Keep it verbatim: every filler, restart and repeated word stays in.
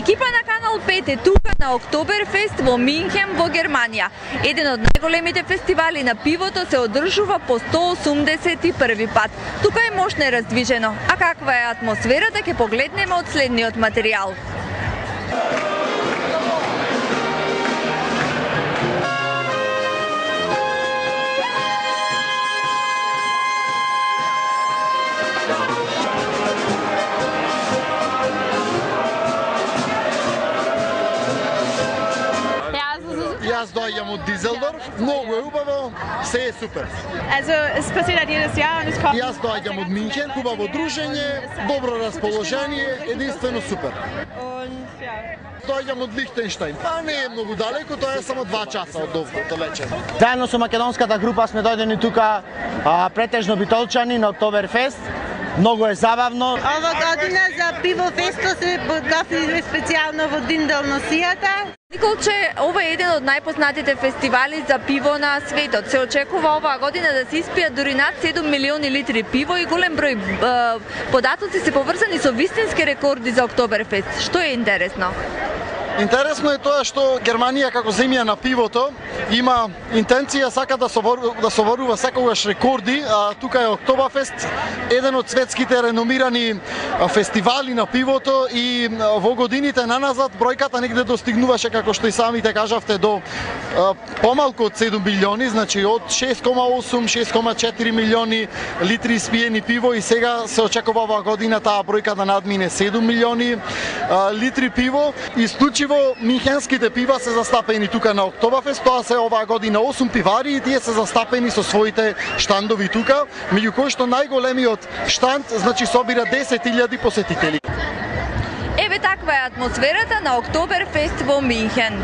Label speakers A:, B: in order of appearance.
A: Екипа на Канал пет е тука на Октоберфест во Минхен во Германија. Еден од најголемите фестивали на пивото се одржува по сто осумдесет и први пат. Тука е мощно е раздвижено. А каква е атмосферата ќе погледнеме од следниот материјал.
B: Јас доаѓам од Дизелдорф, многу е убаво, се е супер.
C: Also, es passiert halt jedes Jahr und es kommt.
B: Јас доаѓам од Минхен, убаво дружење, добро расположение, единствено супер.
C: Und ja.
B: Доаѓам од Лихтенштајн, па не е многу далеко, тоа е само два часа од овде далече.
D: Заедно со македонската група сме дојдени тука а, претежно битолчани на Октоберфест. Многу е забавно.
E: Ова година за пивофесто се подготвиле специјално во Динделносијата.
A: Николче, ова е еден од најпознатите фестивали за пиво на светот. Се очекува оваа година да се испијат дури над седум милиони литри пиво и голем број е, податоци се поврзани со вистински рекорди за Октоберфест. Што е интересно?
B: Интересно е тоа што Германија како земја на пивото има интенција сака да соборува, да соборува секогаш рекорди, а тука е Октоберфест, еден од светските реномирани фестивали на пивото и во годините наназад бројката негде достигнуваше, како што и самите кажавте, до помалку од седум милиони, значи од шест кома осум шест кома четири милиони литри испиени пиво и сега се очекува оваа година таа бројка да надмине седум милиони литри пиво. Исклучиво минхенските пива се застапени тука на Октоберфест, тоа се оваа година осум пивари и тие се застапени со своите штандови тука, меѓу кои што најголемиот штанд значи собира десет илјади посетители.
A: Еве таква е атмосферата на Октоберфест во Минхен.